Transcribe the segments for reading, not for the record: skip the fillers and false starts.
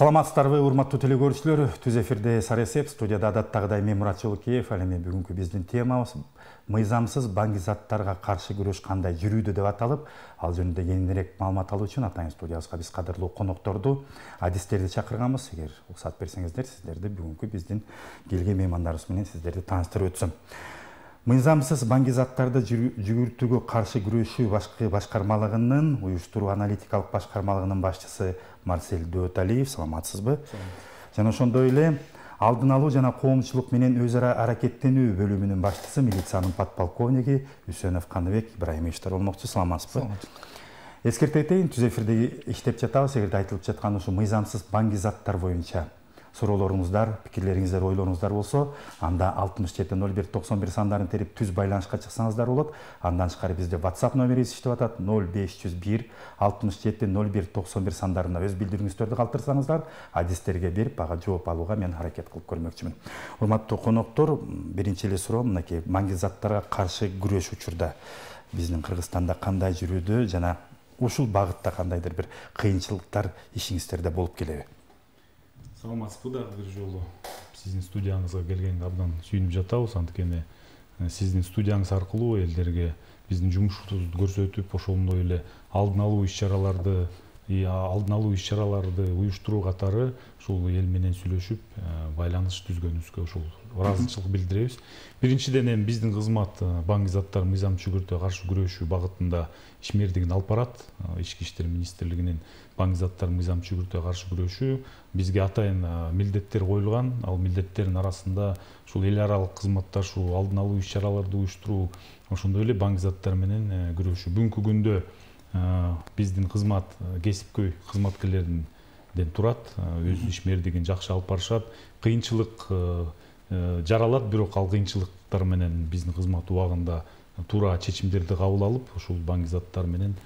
Саламатсыздарбы, урматтуу телекөрүүчүлөр. Түз эфирде Саресеп, студияда адаттагыдай мен Мурат Жолукеев. Ал эми бүгүнкү биздин темабыз мыйзамсыз баңгизаттарга каршы күрөш кандай жүрүүдө деп аталып, ал жөнүндө кеңирээк маалымат алуу үчүн атайын студиябызга биз кадырлуу конокторду, адистерди чакырганбыз. Эгер уруксат берсеңиздер, сиздерди бүгүнкү биздин келген меймандарыбыз менен сиздерди тааныштырып өтсөм. Мыйзамсыз баңгизаттарды жүгүртүүгө каршы күрөшүү башкармалыгынын уюштуруу аналитикалык башкармалыгынын башчысы Марсель Дөталиев, саламатсызбы? Жана ошондой эле алдын алуу жана коомчулук менен өз ара аракеттенүү бөлүмүнүн башчысы, милициянын подполковниги Үсөнов Каныбек Ибраимовичтер болмокчу. Саламатсызбы? Эскерте кетейин, түз эфирде иштеп жатабыз. Эгерде айтылып жаткан ушу мыйзамсыз баңгизаттар боюнча суроолоруңуздар, пикирлериңиздер, ойлоруңуздар болсо, анда 670191 сандарын терип түз байланышка чыксаңыздар болот. Андан тышкары бизде WhatsApp номерибиз иштеп атат. 0501 670191 сандарына өз билдирүүңүздөрдү калтырсаңыздар, адистерге берип, ага жооп алууга мен аракет кылып көрмөкчүмүн. Урматтуу коноктор, биринчи эле суроо мынакей: баңгизаттарга каршы күрөш учурда биздин Кыргызстанда кандай жүрүүдө жана ушул багытта кандайдыр бир кыйынчылыктар ишиңиздерде болуп келеби? Саламатсызбы, дагы бир жолу сиздин студияңызга келгенге абдан сүйүнүп жатабыз. Анткени сиздин студияңыз аркылуу элдерге биздин жумушубузду көрсөтүп, ошондой эле алдын алуу иш-чараларды уюштуруу катары ушул эл менен сүйлөшүп, байланыш түзгөнүбүзгө ушул ыраазычылык билдиребиз. Биринчиден эми биздин кызмат баңгизаттар мыйзамсыз жүгүртүүгө каршы күрөшүү багытында ишмердигин алып барат. Ички иштер министрлигинин баңгизаттар мыйзамсыз жүгүртүүгө каршы күрөшүү бизге атайын милдеттер коюлган. Ал милдеттердин арасында ушул эл аралык кызматташуу, алдын алуу иш-чараларды уюштуруу, ошондой эле баңгизаттар менен күрөшүү. Бүгүнкү күндө биздин кызмат кесипкөй кызматкерлерден турат. Өз ишмердигин жакшы алып барышат. Кыйынчылык жаралат, бирок ал кыйынчылыктар менен биздин кызмат убагында туура чечимдерди кабыл алып, ушул баңгизаттар менен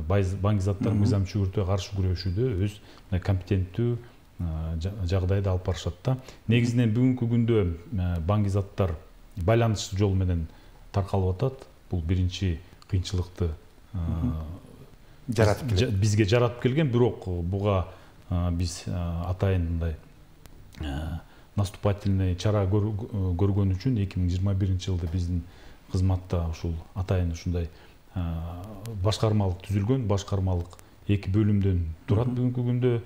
баңгизаттар мыйзамсыз жүгүртүүгө каршы күрөшүүдө өз компетенттүү жагдайда алып барышат да. Негизинен бүгүнкү күндө баңгизаттар байланыш жолу менен таркалып атат. Бул биринчи кыйынчылыкты бизге жаратып келген, бирок буга биз атайын мындай наступательный чара көргөн үчүн 2021-жылды биздин кызматта ушул атайын ушундай башкармалык түзүлгөн. Башкармалык 2 бөлүмдөн турат бүгүнкү күндө.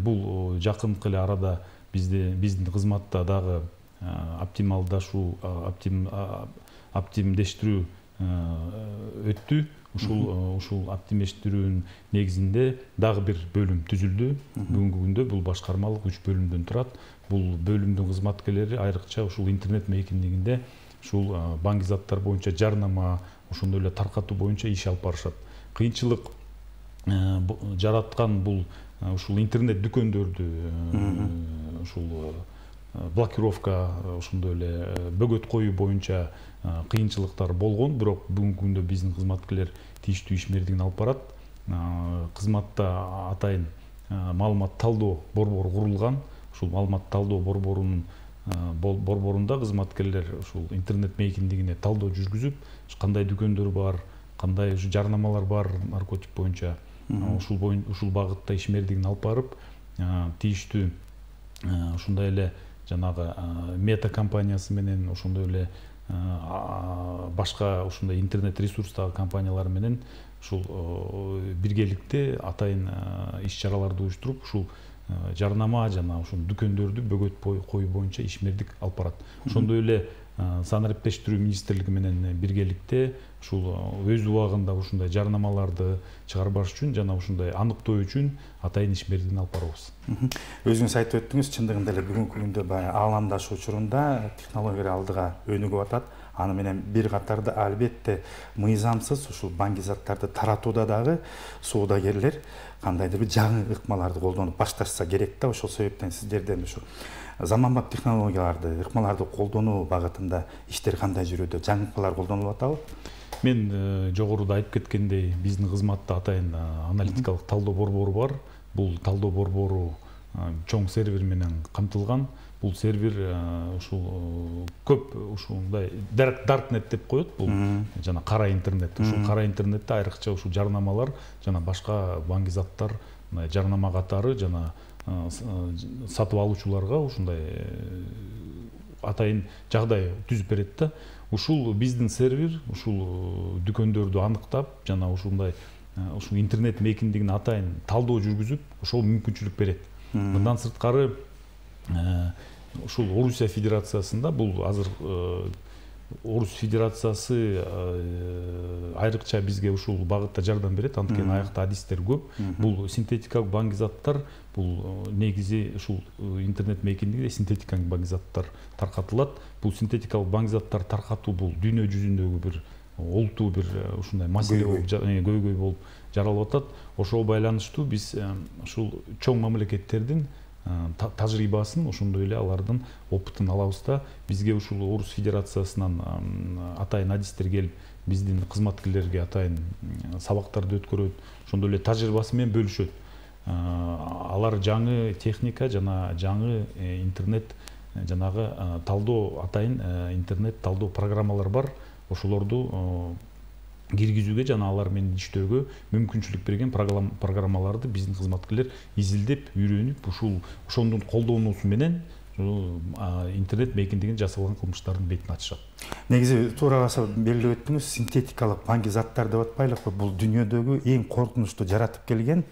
Бул жакынкы эле арада биздин кызматта дагы оптимдештирүү өттү. Ушул оптимдештирүүнүн негизинде дагы бир бөлүм түзүлдү. Бүгүнкү күндө бул башкармалык 3 бөлүмдөн турат. Бул бөлүмдүн кызматкерлери айрыкча ушул интернет мейкиндигинде ушул баңгизаттар боюнча жарнама, ошондой эле таркатуу боюнча иш алып барышат. Кыйынчылык жараткан бул ушул интернет дүкөндөрдү ушул блокировка, ошондой эле бөгөт коюу боюнча кыйынчылыктар болгон, бирок бүгүнкү күндө биздин кызматкерлер тийиштүү ишмердигин алып барат. Кызматта атайын маалымат талдоо борбору курулган. Ушул маалымат талдоо борборунда кызматкерлер ушул интернет мейкиндигине талдоо жүргүзүп, кандай дүкөндөр бар, кандай жарнамалар бар наркотик боюнча, ушул багытта ишмердигин алып барып, тийиштүү ушундай эле жанагы мета компаниясы менен, ошондой эле башка ушундай интернет ресурстагы компаниялар менен ушул биргеликте атайын иш-чараларды уюштуруп, ушул жарнама жана ушул дүкөндөрдү бөгөт коюу боюнча ишмердик алып барат. Ошондой эле санариптештирүү министрлиги менен биргеликте ушул өз убагында ушундай жарнамаларды чыгарбаш үчүн жана ушундай аныктоо үчүн атайын ишмердигин алып барабыз. Өзүңүз айтып өттүңүз, чындыгында эле бүгүнкү күндө ааламдашуу учурунда технологиялар алдыга өнүгүп атат. Аны менен бир катарда албетте мыйзамсыз ушул баңгизаттарды таратууда дагы соодагерлер кандайдыр бир жаңы ыкмаларды колдонуп башташса керек да. Ошол себептен сиздерден ушу заманбап технологияларды, ыкмаларды колдонуу багытында иштер кандай жүрүүдө, жаңы ыкмалар колдонулуп атабы? Мен жогоруда айтып кеткендей, биздин кызматта атайын аналитикалык талдоо борбору бар. Бул талдоо борбору чоң сервер менен камтылган. Бул сервер ушул көп ушундай даркнет деп коет. Бул жана кара интернет. Ушул кара интернетте айрыкча ушул жарнамалар жана башка баңгизаттар жарнама катары жана сатып алуучуларга ушундай атайын жагдай түзүп берет да. Ушул биздин сервер ушул дүкөндөрдү аныктап жана ушундай ушул интернет мейкиндигин атайын талдоо жүргүзүп ошол мүмкүнчүлүк берет. Мындан сырткары ушул Орусия Федерациясында бул азыр Орус Федерациясы айрыкча бизге ушул багытта жардам берет, анткени аякта адистер көп. Бул синтетикалык баңгизаттар, бул негизи ушул интернет мейкиндигиде синтетикалык баңгизаттар таркатылат. Бул синтетикалык баңгизаттар таркатуу бул дүйнө жүзүндөгү бир олтуу бир ушундай маселе болуп көйгөй болуп жаралып атат. Ошого байланыштуу биз ушул чоң мамлекеттердин тажрыйбасын, ошондой эле алардын опытын алабыз да. Бизге ушул Орус Федерациясынан атайын адистер келип, биздин кызматкерлерге атайын сабактарды өткөрөт, ошондой эле тажрыйбасы менен бөлүшөт. Алар жаңы техника жана жаңы интернет жанагы талдоо, атайын интернет талдоо программалар бар. Ошолорду киргизүүгө жана алар менен иштөөгө мүмкүнчүлүк берген программаларды биздин кызматкерлер изилдеп, үйрөнүп, ошондун колдонуусу менен интернет мейкиндигин жасалган кылмыштардын бетин ачышат. Негизи туура баса белгилеп өттүңүз, синтетикалык баңгизаттар деп атпайлыкпы? Бул дүйнөдөгү эң коркунучтуу жаратып келген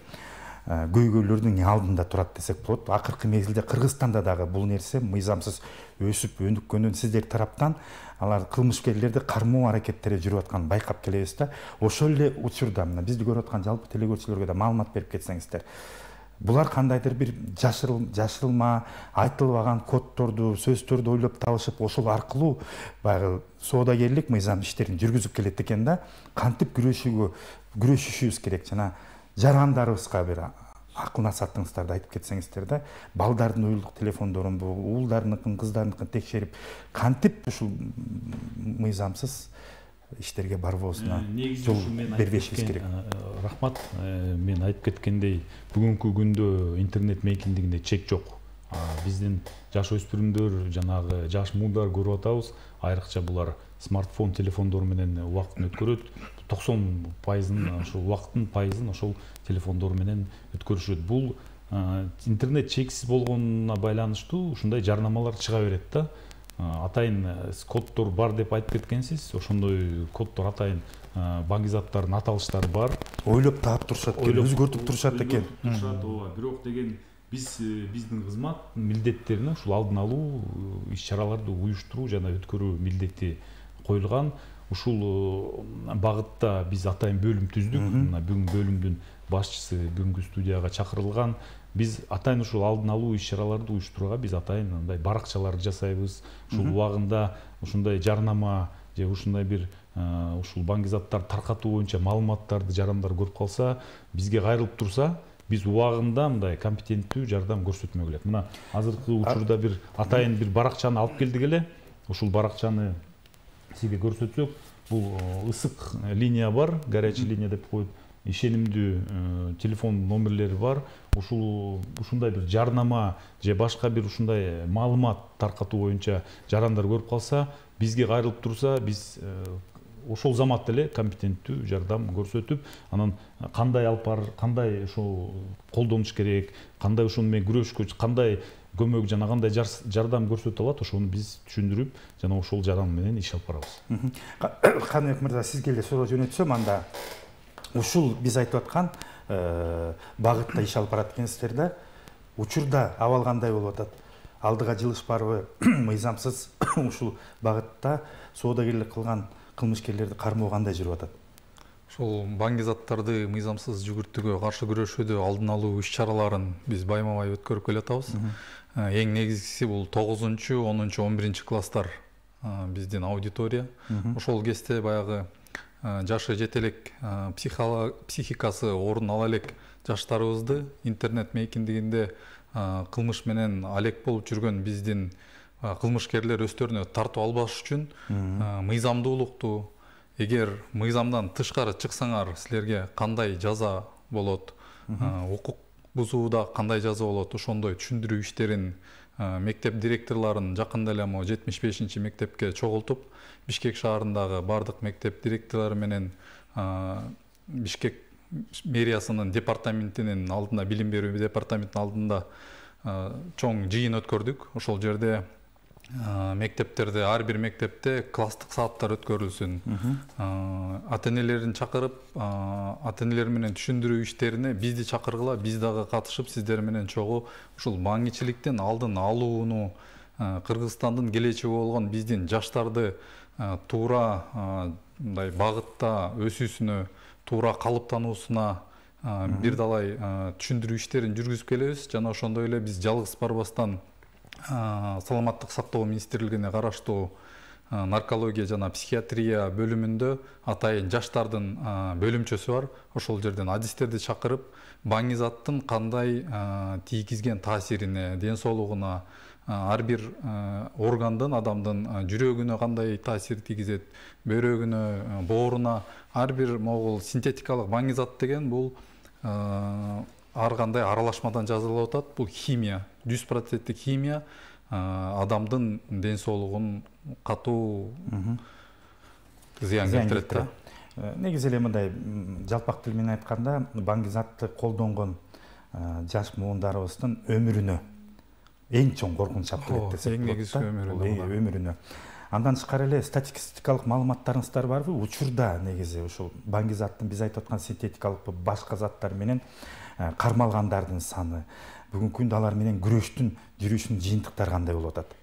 көйгөйлөрдүн алдында турат десек болот. Акыркы мезгилде Кыргызстанда дагы бул нерсе мыйзамсыз өсүп өнүккөнүн сиздер тараптан алар кылмышкерлерди кармоо аракеттери жүрүп атканын байкап келебиз да. Ошол эле учурда мына бизди көрүп аткан жалпы телекөрүүчүлөргө да маалымат берип кетсеңиздер. Булар кандайдыр бир жашырылма, айтылбаган коддорду, сөздөрдү ойлоп табышып, ошол аркылуу баягы соодагерлик мыйзам иштерин жүргүзүп келет экен да. Кантип күрөшүшүбүз керек жана жарандарыбызга бир акыл насаатыңыздарды айтып кетсеңиздер да. Балдардын уюлдук телефондорун, уулдарыныкын, кыздарыныкын текшерип, кантип ушул мыйзамсыз иштерге барбоосуна жол бербешибиз керек. Рахмат. Мен айтып кеткендей, бүгүнкү күндө интернет мейкиндигинде чек жок. Биздин жаш өспүрүмдөр, жанагы жаш муулдар көрүп атабыз. Айрыкча булар смартфон, телефондор менен убактын өткөрөт. 90% ошол убакыттын пайызын ошол телефондор менен өткөрүшөт. Бул интернет чексиз болгонуна байланыштуу ушундай жарнамалар чыга берет да. Атайын коддор бар деп айтып кеткенсиз, ошондой коддор атайын баңгизаттардын аталыштары бар. Ойлоп таап турушат экен, өзгөртүп турушат экен. Бирок деген биздин кызмат милдеттерине ушул алдын алуу, иш-чараларды уюштуруу жана өткөрүү милдети коюлган. Ушул багытта биз атайын бөлүм түздүк. Мына бүгүн бөлүмдүн башчысы бүгүнкү студияга чакырылган. Биз атайын ушул алдын алуу иш-чараларды уюштурууга биз атайын мындай баракчаларды жасайбыз. Ушул убагында ушундай жарнама же ушундай бир ушул баңгизаттар таркатуу боюнча маалыматтарды жарандар көрүп калса, бизге кайрылып турса, биз убагында мындай компетенттүү жардам көрсөтмөк элек. Мына азыркы учурда бир атайын бир баракчаны алып келдик эле. Ушул баракчаны сизге көрсөтсөк, бул ысык линия бар, горячий линия деп коюп, ишенимдүү телефон номерлери бар. Ушундай бир жарнама же башка бир ушундай маалымат таркатуу боюнча жарандар көрүп калса, бизге кайрылып турса, биз ошол заматта эле компетенттүү жардам көрсөтүп, анан кандай алып бар, кандай ошол колдонуш керек, кандай ошону менен күрөшкө, кандай көмөк жана кандай жардам көрсөтө алат, ошону биз түшүндүрүп, жана ошол жаран менен иш алып барабыз. Каныбек мырза, сизге эле суроо жөнөтсөм, анда ушул биз айтып аткан багытта иш алып барат экенсиздер да. Учурда абал кандай болуп атат? Алдыга жылыш барбы? Мыйзамсыз ушул багытта соодагерлик кылган кылмышкерлерди кармоо кандай жүрүп атат? Ошол баңгизаттарды мыйзамсыз жүгүртүүгө каршы күрөшүүдө алдын алуу иш-чараларын биз байма-бай өткөрүп келатабыз. Эң негизгиси бул 9-10, 11 класстар биздин аудитория. Ошол кезде баягы жашы жете элек, психикасы орун ала элек жаштарыбызды интернет мейкиндигинде кылмыш менен алек болуп жүргөн биздин кылмышкерлер өздөрүнө тартып албаш үчүн мыйзамдуулукту, эгер мыйзамдан тышкары чыксаңар, силерге кандай жаза болот, укук бузууда кандай жаза болот, ошондой түшүндүрүү иштерин мектеп директорлорун жакында эле 75-мектепке чогултуп, Бишкек шаарындагы бардык мектеп директорлору менен Бишкек мэриясынын департаментинин алдында, билим берүү департаментинин алдында чоң жыйын өткөрдүк. Ошол жерде мектептерде, ар бир мектепте класстык сааттар өткөрүлсүн. Ата-энелерин чакырып, ата-энелер менен түшүндүрүү иштерине бизди чакыргыла, биз дагы катышып, сиздер менен чогуу ушул баңгичиликтин алдын алууну, Кыргызстандын келечеги болгон биздин жаштарды туура мындай багытта өсүүсүнө, туура калыптануусуна бир далай түшүндүрүү иштерин жүргүзүп келебиз. Жана ошондой эле биз жалгыз барбастан Саламаттык сактоо министрлигине караштуу наркология жана психиатрия бөлүмүндө атайын жаштардын бөлүмчөсү бар. Ошол жерден адистерди чакырып, баңгизаттын кандай тийгизген таасирине, ден соолугуна, ар бир органдын, адамдын жүрөгүнө кандай таасир тийгизет, бөйрөгүнө, бооруна, ар бир могул синтетикалык баңгизат деген бул ар кандай аралашмадан жасалып атат. Бул химия, 100% химия адамдын ден соолугун катуу зыян келтирет да. Негизи эле мындай жалпак тил менен айтканда, баңгизатты колдонгон жаш муундарыбыздын өмүрүнө эң чоң коркунуч алып келет десек болот. Эң негизи өмүрүнө. Андан тышкары эле статистикалык маалыматтарыңыздар барбы? Учурда негизи ушул баңгизаттын биз айтып аткан синтетикалык башка заттар менен кармалгандардын саны, бүгүнкү күндө алар менен күрөштүн жүрүшүнүн жыйынтыктары кандай болуп атат?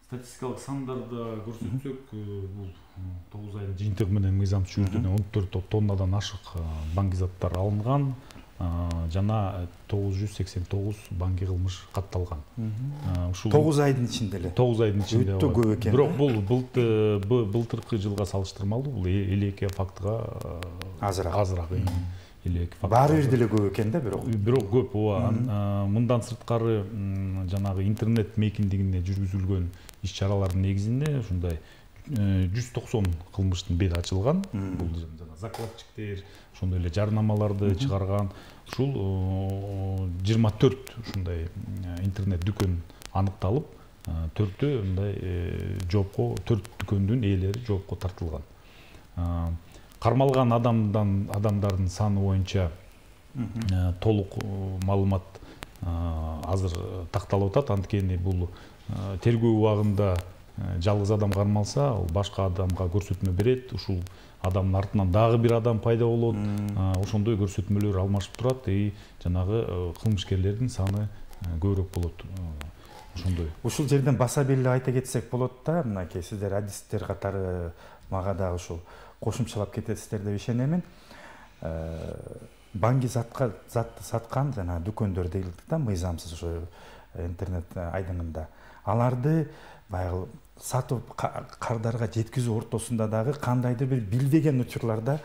Статистикалык сандарды көрсөтсөк, бул 9 айдын жыйынтыгы менен мыйзамсыз чүгүртүүдөн 14 тоннадан ашык баңгизаттар алынган, жана 989 баңги кылмыш катталган. Ушул 9 айдын ичинде эле. 9 айдын ичинде. Өтө көп экен. Бирок бул былтыркы жылга салыштырмалуу бул 52 фактыга азыраак. Баары бир деле көп экен да, бирок көп. Мындан сырткары жанагы интернет мейкиндигинде жүргүзүлгөн иш-чаралардын негизинде ушундай 190 кылмыштын бети ачылган. Бул жана закладчиктер, ошондой эле жарнамаларды чыгарган. Ушул 24 ушундай интернет дүкөн аныкталып, 4тө мындай жоопко, 4 дүкөндүн ээлери жоопко тартылган. Кармалган адамдардын саны боюнча толук маалымат азыр такталып атат. Анткени бул тергөө убагында жалгыз адам кармалса, ал башка адамга көрсөтмө берет. Ушул адамдын артынан дагы бир адам пайда болот. Ошондой көрсөтмөлөр алмашып турат. Жанагы кылмышкерлердин саны көбүрөөк болот. Ошондой. Ушул жерден баса беле айта кетсек болот да, мынакей сиздер адистер катары мага дагы ушул кошумчалап кетесиздер деп ишенемин. Баңгизатка затты саткан жана дүкөндөр дейт да, мыйзамсыз ошо интернет айдыңында. Аларды баягы сатып кардарга жеткизүү ортосунда дагы кандайдыр бир билбеген учурларда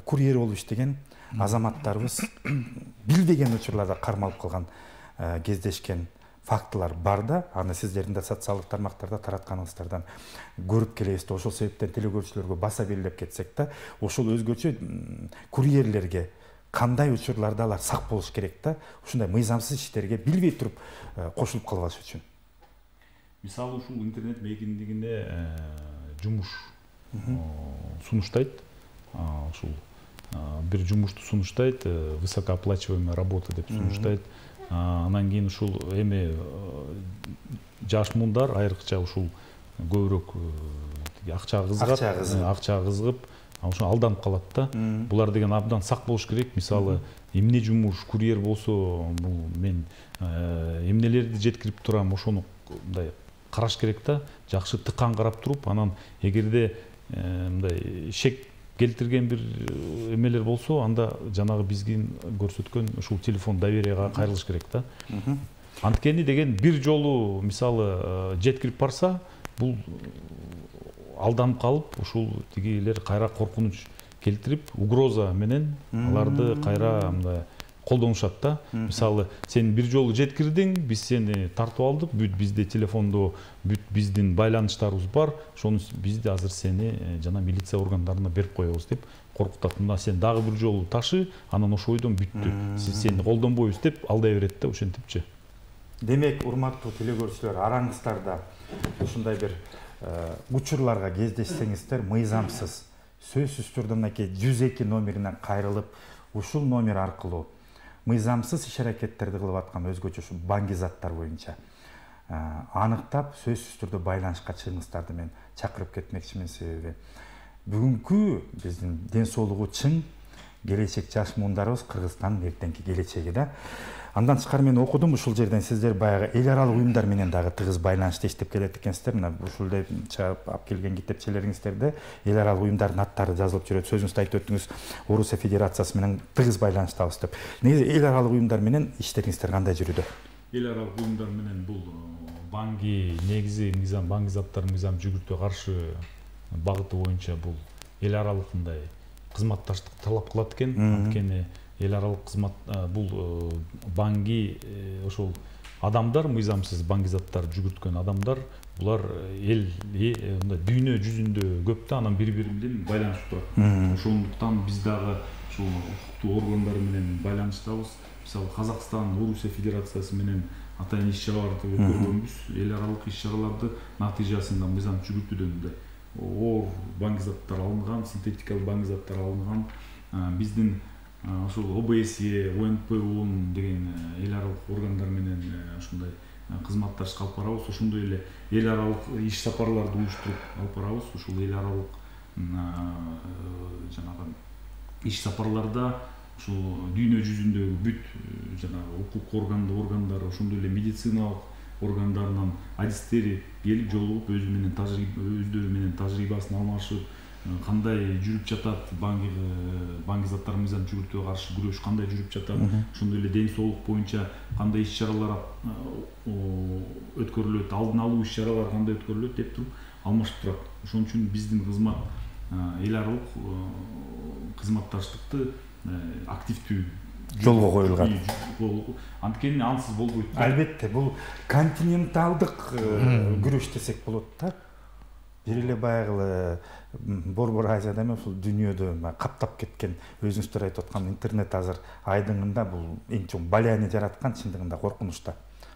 курьер болуп иштеген азаматтарыбыз билбеген учурларда кармалып калган, кездешкен фактылар бар да. Аны сиздердин да социалдык тармактарда таратканыңыздардан көрүп келебиз да. Ошол себептен телекөрүүчүлөргө баса белгилеп кетсек да, ошол өзгөчө курьерлерге кандай учурларда алар сак болуш керек да, ушундай мыйзамсыз иштерге билбей туруп кошулуп калбаш үчүн. Мисалы ушул интернет мейкиндигинде жумуш сунуштайт. Ушул бир жумушту сунуштайт, высокооплачиваемая работа деп сунуштайт. Анан кийин ушул эми жаш муундар айрыкча ушул көбүрөөк акчага кызыгып, ошо алданып калат да. Булар деген абдан сак болуш керек. Мисалы, эмне жумуш, курьер болсо, бул мен эмнелерди жеткирип турам, ошону мындай караш керек да. Жакшы тыккан карап туруп, анан эгерде мындай шек келтирген бир эмелер болсо, анда жанагы биздин көрсөткөн ушул телефон доверияга кайрылыш керек да. Анткени деген бир жолу мисалы жеткирип барса, бул алданып калып, ушул тигилер кайра коркунуч келтирип, угроза менен аларды кайра мындай колдонушат да. Мисалы, сен бир жолу жеткирдиң, биз сени тартып алдык, бүт бизде телефондо бүт биздин байланыштарыбыз бар, ошону бизди азыр сени жана милиция органдарына берип коебуз деп коркутат. Мына сен дагы бир жолу ташы, анан ошо бойдон бүттү. Сиз сени колдонбойбуз деп алдай берет да, ошентипчи. Демек, урматтуу телекөрүүчүлөр, араңыздарда ушундай бир учурларга кездешсеңиздер, мыйзамсыз сөзсүз түрдө мынакей 102 номерине кайрылып, ушул номер аркылуу мыйзамсыз иш-аракеттерди кылып аткан өзгөчө ушу баңгизаттар боюнча аныктап, сөзсүз түрдө байланышка чыгыңыздарды мен чакырып кетмекчимин. Себеби бүгүнкү биздин ден соолугу чың келечек жаш муундарыбыз Кыргызстандын эртеңки келечеги да. Андан тышкары мен окудум, ушул жерден сиздер баягы эл аралык уюмдар менен дагы тыгыз байланышта иштеп келет экенсиздер. Мына ушулдай чыгып алып келген китепчелериңиздерде эл аралык уюмдардын аттары жазылып жүрөт. Сөзүңүздө айтып өттүңүз, Орусия Федерациясы менен тыгыз байланыштабыз деп. Негизи эл аралык уюмдар менен иштериңиздер кандай жүрүүдө? Эл аралык уюмдар менен бул банги негизи мыйзам, баңгизаттар мыйзам жүгүртүүгө каршы багыты боюнча бул эл аралык мындай кызматташтык талап кылат экен. Анткени эл аралык кызмат бул банги ошол адамдар, мыйзамсыз баңгизаттар жүгүрткөн адамдар, булар эл мындай дүйнө жүзүндө көп да, анан бири-бири менен байланышып турат. Ошондуктан биз дагы ушул укуктуу органдар менен байланыштабыз. Мисалы Казакстан, Орусия Федерациясы менен атайын иш-чараларды өткөргөнбүз. Эл аралык иш-чараларды натыйжасында мыйзам жүгүртүүдөн мындай оор баңгизаттар алынган, синтетикалык баңгизаттар алынган. Биздин ошол ОБСЕ, ОНПО деген эл аралык органдар менен ушундай кызматташып алып барабыз. Ошондой эле эл аралык иш сапарларды уюштуруп алып барабыз. Ушул эл аралык жанагы иш сапарларда ушул дүйнө жүзүндөгү бүт жанагы укук органдар, ошондой эле медициналык органдарынан адистери келип жолугуп өздөрү менен тажрыйбасын алмашып, кандай жүрүп жатат баңгизаттар мыйзам жүгүртүүгө каршы күрөш кандай жүрүп жатат, ошондой эле ден соолук боюнча кандай иш-чаралар өткөрүлөт, алдын алуу иш-чаралары кандай өткөрүлөт деп туруп алмашып турат. Ошон үчүн биздин кызмат эл аралык кызматташтыкты активдүү жолго коюлган. Анткени ансыз болбойт. Албетте, бул континенталдык күрөш десек болот да. Бир эле баягы Борбор Азияда эмес, ушул дүйнөдө каптап кеткен, өзүңүздөр айтып аткан интернет азыр айдыңында бул эң чоң балияны жараткан, чындыгында коркунучта.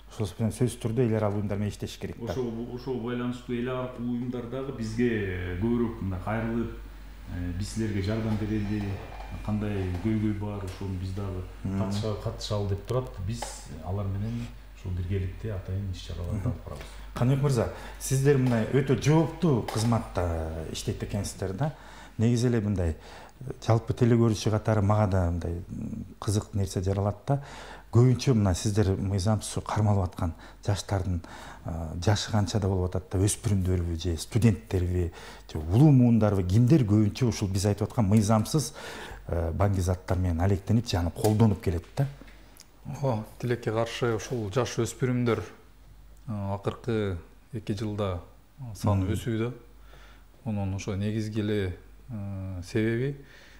Ошол менен сөзсүз түрдө эл аралык уюмдар менен иштеш керек да. Ошол байланыштуу эл аралык уюмдар дагы бизге көбүрөөк мындай кайрылып, биз силерге жардам берели, кандай көйгөй бар, ошону биз дагы катышалы деп турат. Биз алар менен ушул биргеликте атайын иш-чараларды алып барабыз. Каныбек мырза, сиздер мындай өтө жооптуу кызматта иштейт экенсиздер да. Негизи эле мындай жалпы телекөрүүчү катары мага да мындай кызык нерсе жаралат да. Көбүнчө мына сиздер мыйзамсыз кармалып аткан жаштардын жашы канчада болуп атат да, өспүрүмдөрбү же студенттерби же улуу муундарбы, кимдер көбүнчө ушул биз айтып аткан мыйзамсыз баңгизаттар менен алектенип же аны колдонуп келет да? Тилекке каршы ушул жаш өспүрүмдөр акыркы 2 жылда саны өсүүдө. Онун ошо негизги эле себеби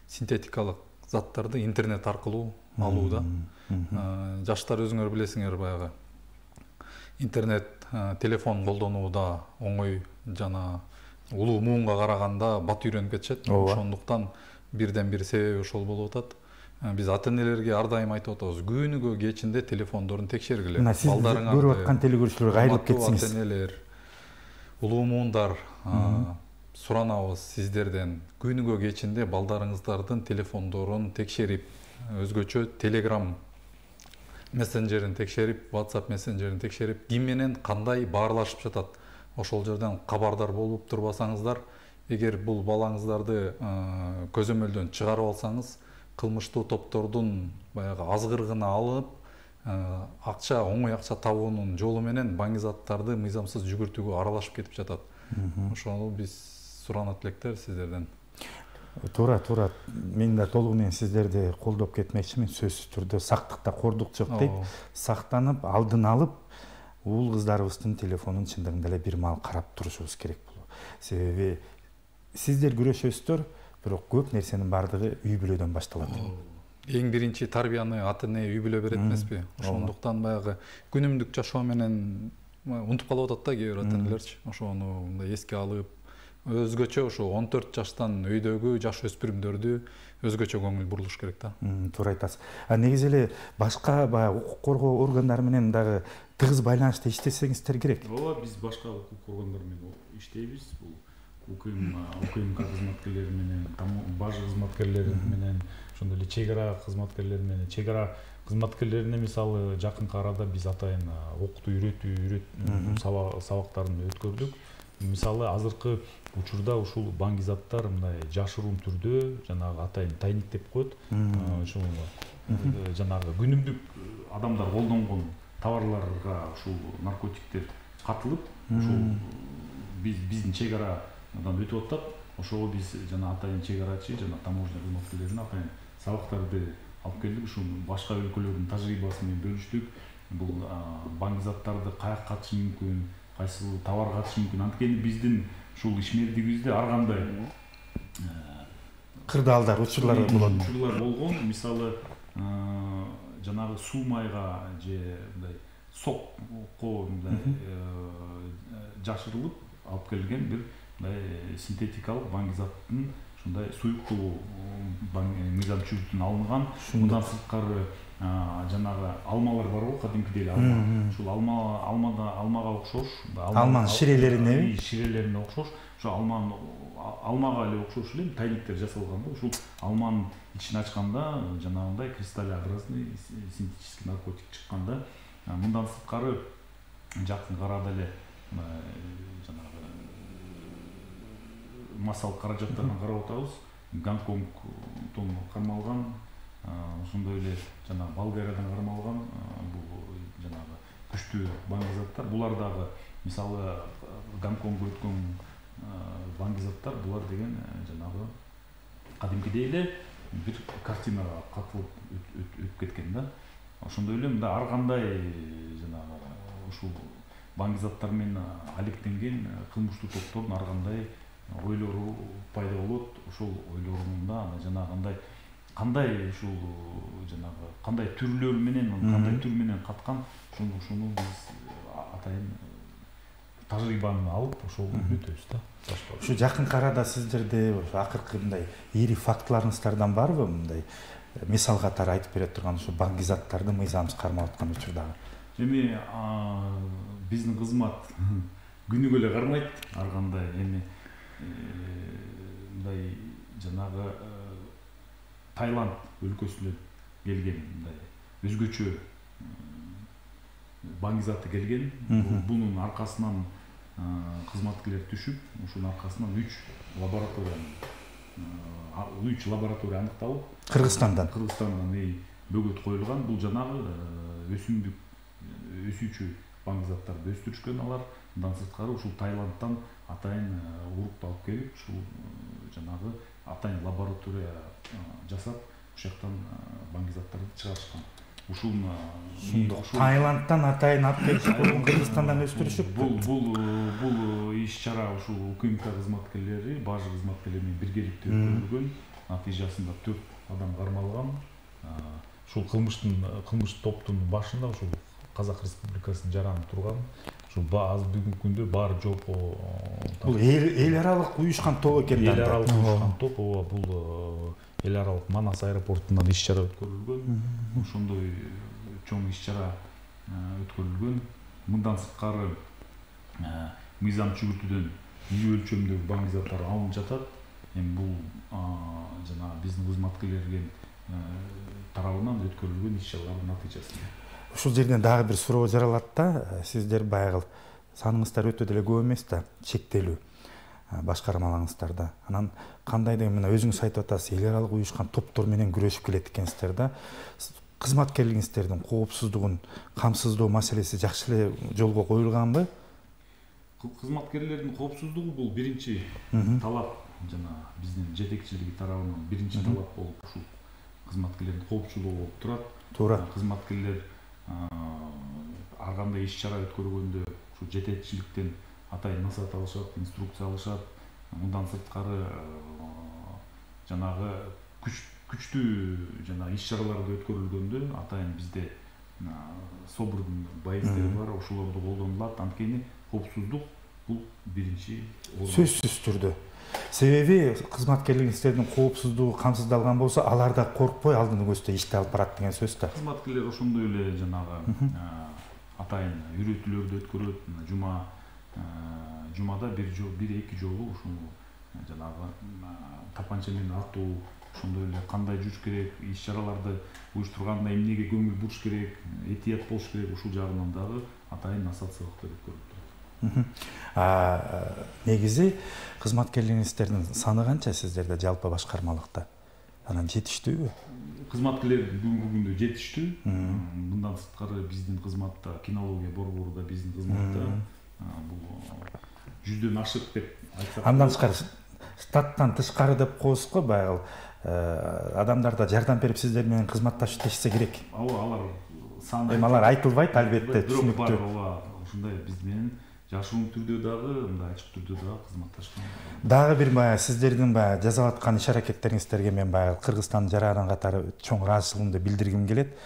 синтетикалык заттарды интернет аркылуу алууда. Жаштар өзүңөр билесиңер, баягы интернет, телефон колдонууда оңой жана улуу муунга караганда бат үйрөнүп кетишет. Ошондуктан бирден бир себеби ошол болуп атат. Биз ата-энелерге ар дайым айтып атабыз, күнүгө кечинде телефондорун текшергиле. Балдарыңар көрүп аткан телекөрүүчүлөр кайрылып кетсиңиз. Ата-энелер, улуу муундар, суранабыз сиздерден, күнүгө кечинде балдарыңыздардын телефондорун текшерип, өзгөчө Telegram мессенджерин текшерип, WhatsApp мессенджерин текшерип, ким менен кандай баарлашып жатат, ошол жерден кабардар болуп турбасаңыздар, эгер бул балаңыздарды көзөмөлдөн чыгарып алсаңыз, кылмыштуу топтордун баягы азгырыгына алып, оңой акча табуунун жолу менен баңгизаттарды мыйзамсыз жүгүртүүгө аралашып кетип жатат. Ошону биз суранат электер сиздерден. Туура. Мен да толугу менен сиздерди колдоп кетмекчимин. Сөзсүз түрдө сактыкта кордук жок дейт. Сактанып, алдын алып, уул кыздарыбыздын телефонун чындыгында эле бир маал карап турушубуз керек болот. Себеби сиздер күрөшөсүздөр, бирок көп нерсенин бардыгы үй бүлөдөн башталат. Эң биринчи тарбияны ата-эне үй бүлө берет эмеспи? Ошондуктан баягы күнүмдүк жашоо менен унутуп калып атат да кээ бир ата-энелерчи. Ошону мындай эске алып, өзгөчө ошо 14 жаштан өйдөгү жаш өспүрүмдөрдү өзгөчө көңүл бурулуш керек да. Туура айтасыз. Негизи эле башка баягы укук коргоо органдары менен дагы тыгыз байланышта иштесеңиздер керек. Ооба, биз башка укук органдар менен иштейбиз. Бул УКМК кызматкерлери менен, баж кызматкерлери менен, ошондой эле чек ара кызматкерлери менен, чек ара кызматкерлерине мисалы жакынкы арада биз атайын окутуу үйрөтүү сабактарын өткөрдүк. Мисалы азыркы учурда ушул баңгизаттар мындай жашыруун түрдө жанагы атайын тайник деп коет. Ушул жанагы күнүмдүк адамдар колдонгон товарларга ушул наркотиктер катылып, ушул биздин чек арадан өтүп атат. Ошого биз жана атайын чек арачы жана таможня кызматкерлерине атайын сабактарды алып келдик. Ушул башка өлкөлөрдүн тажрыйбасы менен бөлүштүк. Бул баңгизаттарды каяка катышы мүмкүн, кайсы товар катышы мүмкүн. Анткени биздин ушул ишмердигибизде ар кандай кырдаалдар, учурлар болгон. Мисалы жанагы суу майга же мындай сокко мындай жашырылып алып келген бир синтетикалык баңгизаттын ушундай суюктуу мыйзам чүгүтүнөн алынган. Мындан сырткары жанагы алмалар барбы, кадимкидей эле алма. Ушул алмага окшош, алманын ширелерине окшош, ошо алмага эле окшош эле тайниктер жасалган да. Ушул алманын ичин ачканда жанагындай кристаллообразный синтетический наркотик чыккан да. Мындан сырткары жакынкы арада эле жанагы массалык каражаттардан карап атабыз. Гонконгдон кармалган, ошондой эле жана Болгариядан кармалган бул жанагы күчтүү баңгизаттар. Булар дагы мисалы Гонконгго өткөн баңгизаттар, булар деген жанагы кадимкидей эле бир картинага катылып өтүп кеткен да. Ошондой эле мында ар кандай жанагы ушул баңгизаттар менен алектенген кылмыштуу топтордун ар кандай ойлору пайда болот. Ошол ойлорунда жанагындай кандай ушул жанагы кандай түрлөр менен, кандай түр менен каткан, ошону биз атайын тажрыйбаны алып ошол өтөбүз да. Ушу жакынкы арада сиздерде акыркы мындай ири фактыларыңыздардан барбы, мындай мисал катары айтып бере турган ушу баңгизаттарды мыйзамсыз кармап аткан учурдагы? Эми биздин кызмат күнүгө эле кармайт ар кандай. Эми мындай жанагы Таиланд өлкөсүнөн келген мындай өзгөчө баңгизаты келген. Бунун аркасынан кызматкерлер түшүп, ушунун аркасынан 3 лаборатория аныкталып, Кыргызстандан бөгөт коюлган. Бул жанагы өсүүчү баңгизаттарды өстүрүшкөн алар. Мындан сырткары ушул Таиландтан атайын урукту алып келип, ушул жанагы атайын лаборатория жасап, ушуяктан баңгизаттарды чыгарышкан. Ушул Таиландтан атайын алып келип, Кыргызстандан өстүрүшүп. Бул иш-чара ушул УКМК кызматкерлери, баж кызматкерлери менен биргеликте өткөрүлгөн. Натыйжасында 4 адам кармалган. Ушул кылмыштуу топтун башында ушул Казак Республикасынын жараны турган. Ушул азыр бүгүнкү күндө баары жок. Бул эл аралык уюшкан топ экен да. Эл аралык уюшкан топ, бул эл аралык Манас аэропортунан иш-чара өткөрүлгөн. Ошондой чоң иш-чара өткөрүлгөн. Мындан сырткары мыйзам чүгүртүүдөн ири өлчөмдөгү баңгизаттар алынып жатат. Эми бул жана биздин кызматкерлерге тарабынан өткөрүлгөн иш-чаралардын натыйжасы. Ушул жерден дагы бир суроо жаралат да. Сиздер баягы саныңыздар өтө деле көп эмес да, чектелүү башкармаларыңыздарда. Анан кандайдыр мына өзүңүз айтып атасыз, эл аралык уюшкан топтор менен күрөшүп келет экенсиздер да. Кызматкерлигиңиздердин коопсуздугун камсыздоо маселеси жакшы эле жолго коюлганбы? Кызматкерлердин коопсуздугу бул биринчи талап, жана биздин жетекчилиги тарабынан биринчи талап болуп ушул кызматкерлердин коопчулугу болуп турат. Туура. Кызматкерлер ар кандай иш-чара өткөргөндө ушул жетекчиликтен атайын насаат алышат, инструкция алышат. Мындан сырткары жанагы күчтүү жана иш-чараларды өткөрүлгөндө атайын бизде собордун байыздери бар, ошолорду колдонулат. Анткени коопсуздук бул биринчи орун. Сөзсүз түрдө. Себеби кызматкерлигиңиздердин коопсуздугу камсыздалган болсо, алар да коркпой алдын көздөй ишти алып барат деген сөз да. Кызматкерлер ошондой эле жанагы атайын үйрөтүүлөрдү өткөрөт. жумада бир эки жолу ушуну жанагы тапанча менен атуу, ошондой эле кандай жүрүш керек, иш-чараларды уюштурганда эмнеге көңүл буруш керек, этият болуш керек, ушул жагынан дагы атайын ассоциациялыктар өткөрүлүп турат. Негизи кызматкерлериңиздердин саны канча сиздерде жалпы башкармалыкта? Анан жетиштүүбү? Кызматкерлер бүгүнкү күндө жетиштүү. Мындан сырткары биздин кызматта, кинология борбору да биздин кызматта бул 100дөн ашык деп айтсак. Андан тышкары штаттан тышкары деп коебуз го, баягы адамдар да жардам берип сиздер менен кызматташып иштешсе керек. Ооба, алар саны алар айтылбайт, албетте, түшүнүктүү. Ооба, ушундай биз менен жашыруун түрдө дагы, мындай ачык түрдө дагы кызматташкан. Дагы бир баягы сиздердин баягы жасап аткан иш-аракеттериңиздерге мен баягы Кыргызстандын жаранын катары чоң ыраазычылыгымды билдиргим келет.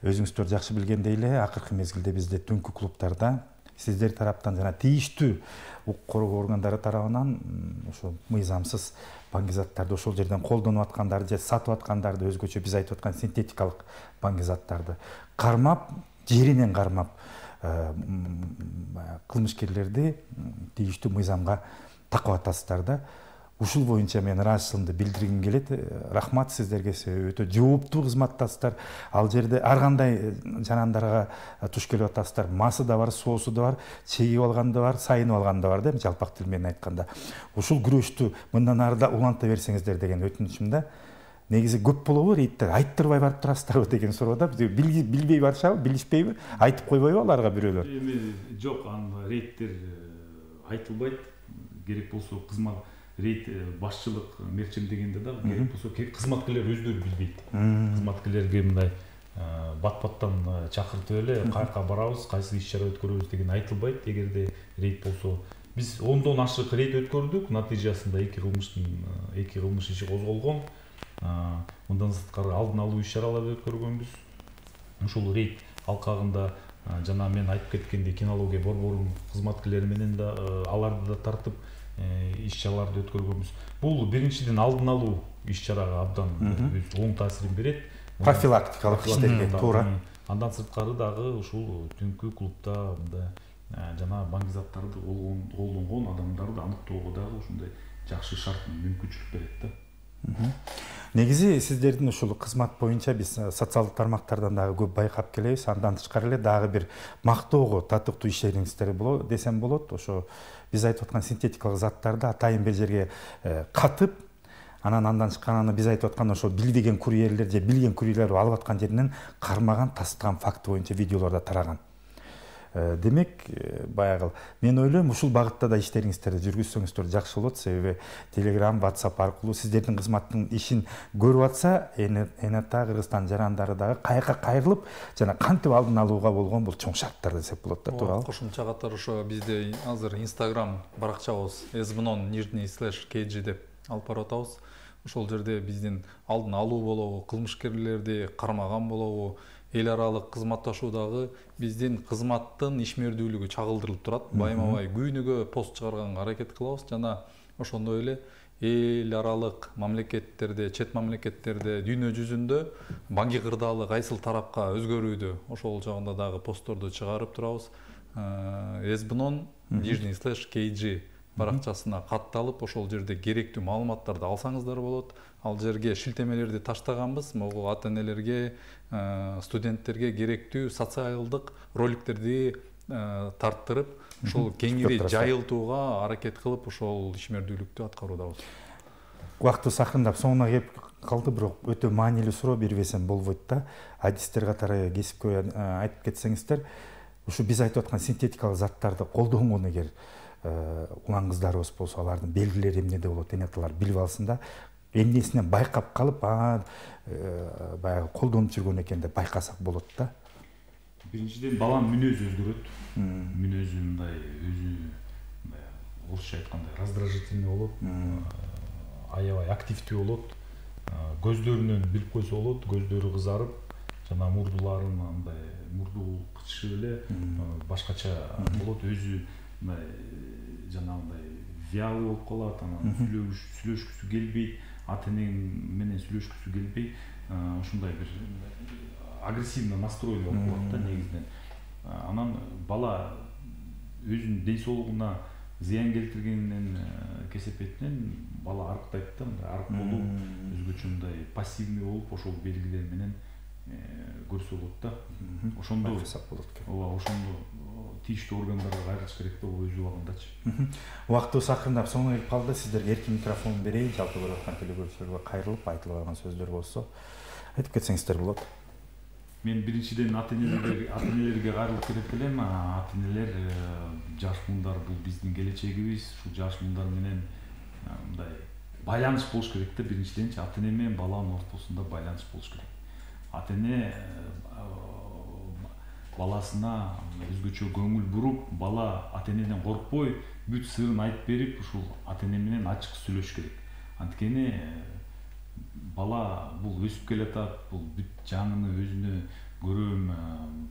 Өзүңүздөр жакшы билгендей эле, акыркы мезгилде бизде түнкү клубтарда сиздер тараптан жана тийиштүү укук коргоо органдары тарабынан ошо мыйзамсыз баңгизаттарды ошол жерден колдонуп аткандарды же сатып аткандарды, өзгөчө биз айтып аткан синтетикалык баңгизаттарды кармап, жеринен кармап кылмышкерлерди тийиштүү мыйзамга такып атасыздар да. Ушул боюнча мен ыраазычылыгымды билдиргим келет. Рахмат сиздерге, өтө жооптуу кызматтасыздар. Ал жерде ар кандай жарандарга туш келип атасыздар. Масы да бар, соосу да бар, чегип алган да бар, сайынып алган да бар да, жалпак тил менен айтканда. Ушул күрөштү мындан ары да уланта берсеңиздер деген өтүнүчүм да. Негизи көп болобу рейдтер? Айттырбай барып турасыздарбы деген суроо да. Билбей барышабы, билишпейби? Айтып койбойбу аларга бирөөлөр? Эми жок, рейдтер айтылбайт. Керек болсо кызмат рейд башчылык мерчемдегенде да керек болсо кызматкерлер өздөрү билбейт. Кызматкерлерге мындай бат-баттан чакыртып эле каяка барабыз, кайсы иш-чара өткөрөбүз деген айтылбайт. Эгерде рейд болсо, биз 10дон ашык рейд өткөрдүк, натыйжасында 2 кылмыш иши козголгон. Мындан сырткары алдын алуу иш-чараларды өткөргөнбүз. Ушул рейд алкагында жана мен айтып кеткендей кинология борборунун кызматкерлери менен да аларды да тартып иш-чараларды өткөргөнбүз. Бул биринчиден алдын алуу иш-чарага абдан оң таасирин берет. Профилактикалык иштерге туура. Андан сырткары дагы ушул түнкү клубда мындай жана баңгизаттарды колдонгон адамдарды аныктоого дагы ушундай жакшы шарт мүмкүнчүлүк берет да. Негизи сиздердин ушул кызмат боюнча биз социалдык тармактардан дагы көп байкап келебиз. Андан тышкары эле дагы бир мактоого татыктуу иштериңиздер десем болот. Ошо биз айтып аткан синтетикалык заттарды атайын бир жерге катып, андан чыккан биз айтып аткан ошо билбеген курьерлер же билген курьерлер алып аткан жеринен кармаган, тастаган факты боюнча видеолордо тараган. Демек, баягы мен ойлойм, ушул багытта да иштериңиздерди жүргүзсөңүздөр жакшы болот. Себеби Telegram, WhatsApp аркылуу сиздердин кызматтын ишин көрүп атса, энета Кыргызстан жарандары дагы каяка кайрылып, жана кантип алдын алууга болгон бул чоң шарттар десек болот да, туурабы? Кошумча катары ошо бизде азыр Instagram баракчабыз /kg деп алып барып атабыз. Ошол жерде биздин алдын алуу болобу, кылмышкерлерди кармаган болобу, эл аралык кызматташуудагы биздин кызматтын ишмердүүлүгү чагылдырылып турат. Байма-бай күнүгө пост чыгарганга аракет кылабыз жана ошондой эле эл аралык мамлекеттерде, чет мамлекеттерде, дүйнө жүзүндө банги кырдаалы кайсыл тарапка өзгөрүүдө ошол жагында дагы постторду чыгарып турабыз. /kg баракчасына катталып, ошол жерде керектүү маалыматтарды алсаңыздар болот. Ал жерге шилтемелерди таштаганбыз. Могу ата-энелерге, студенттерге керектүү социалдык роликтерди тарттырып, ошол кеңири жайылтууга аракет кылып, ошол ишмердүүлүктү аткаруудабыз. Убактыбыз акырындап соңуна келип калды, бирок өтө маанилүү суроо бербесем болбойт да. Адистер катары кесипкөй айтып кетсеңиздер, ушу биз айтып аткан синтетикалык заттарды колдонгон эгер улан кыздарыбыз болсо, алардын белгилери эмнеде болот, энеталар билип алсын да, эмнесинен байкап калып, баягы колдонуп жүргөн экен деп байкасак болот да. Биринчиден баланын мүнөзү өзгөрөт. Мүнөзү мындай орусча айтканда раздражительный болот, аябай активдүү болот. Көздөрүнөн билип койсо болот, көздөрү кызарып, жана мурдуларын мындай мурду кычышып эле башкача болот, өзү жанагындай вялый болуп калат, анан сүйлөшкүсү келбейт, ата-эне менен сүйлөшкүсү келбей, ушундай бир агрессивный настройлуу болуп калат да негизинен. Анан бала өзүнүн ден соолугуна зыян келтиргенинен кесепетинен бала арыктайт да, мындай арык болуп, өзгөчө мындай пассивный болуп, ошол белгилер менен көрсө болот да. Ошондо болот экен. Ооба, ошондо тийиштүү органдарга кайрылыш керек да, өз убагындачы. Убактыбыз акырындап соңуна келип калды. Сиздерге эркин микрофон берейин. Жалпы көрүп аткан телекөрүүчүлөргө кайрылып айтылып алган сөздөр болсо айтып кетсеңиздер болот. Мен биринчиден ата-энелерге кайрылып кетет элем. Ата-энелер, жаш муундар бул биздин келечегибиз. Ушул жаш муундар менен мындай байланыш болуш керек да. Биринчиденчи ата-эне менен баланын ортосунда байланыш болуш керек. Ата-эне баласына өзгөчө көңүл буруп, бала ата-энеден коркпой, бүт сырын айтып берип, ушул ата-эне менен ачык сүйлөшүш керек. Анткени бала бул өсүп келатат, бул бүт жаңыны өзүнө көрөм,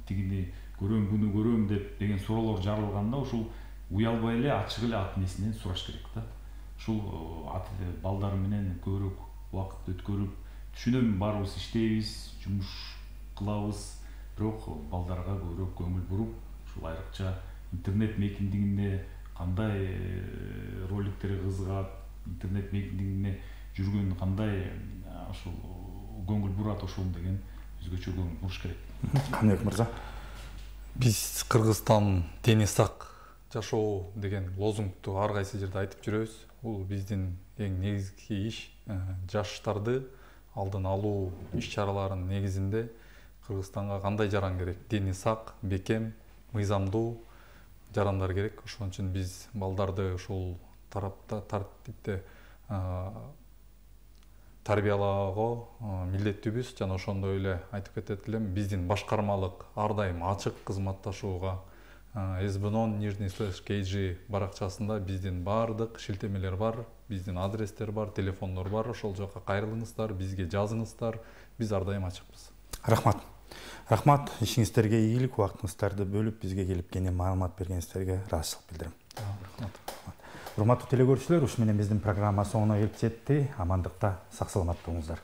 тигини көрөм, буну көрөм деген суроолор жарылганда, ушул уялбай эле ачык эле ата-энесинен сураш керек да. Ушул балдар менен көбүрөөк убакыт өткөрүп, түшүнөм, баарыбыз иштейбиз, жумуш кылабыз, бирок балдарга көбүрөөк көңүл буруп, ушул айрыкча интернет мейкиндигинде кандай роликтерге кызыгат, интернет мейкиндигине жүргөн кандай ошол көңүл бурат, ошол деген өзгөчө көңүл буруш керек. Каныбек мырза, биз Кыргызстан тени сак жашоо деген лозунгду ар кайсы жерде айтып жүрөбүз. Бул биздин эң негизги иш. Жаштарды алдын алуу иш-чараларынын негизинде Кыргызстанга кандай жаран керек? Дени сак, бекем, мыйзамдуу жарандар керек. Ошон үчүн биз балдарды ушул тартипте тарбиялоого милдеттүүбүз. Жана ошондой эле айтып кетет элем, биздин башкармалык ар дайым ачык кызматташууга sbnon_kg баракчасында биздин баардык шилтемелер бар, биздин адрестер бар, телефондор бар. Ошол жака кайрылыңыздар, бизге жазыңыздар. Биз ар дайым ачыкпыз. Рахмат, ишиңиздерге ийгилик, убактыңыздарды бөлүп бизге келип кеңири маалымат бергениңиздерге ыраазычылык билдирем. Урматтуу телекөрүүчүлөр, ушу менен биздин программа соңуна келип жетти. Амандыкта, сак саламат болуңуздар.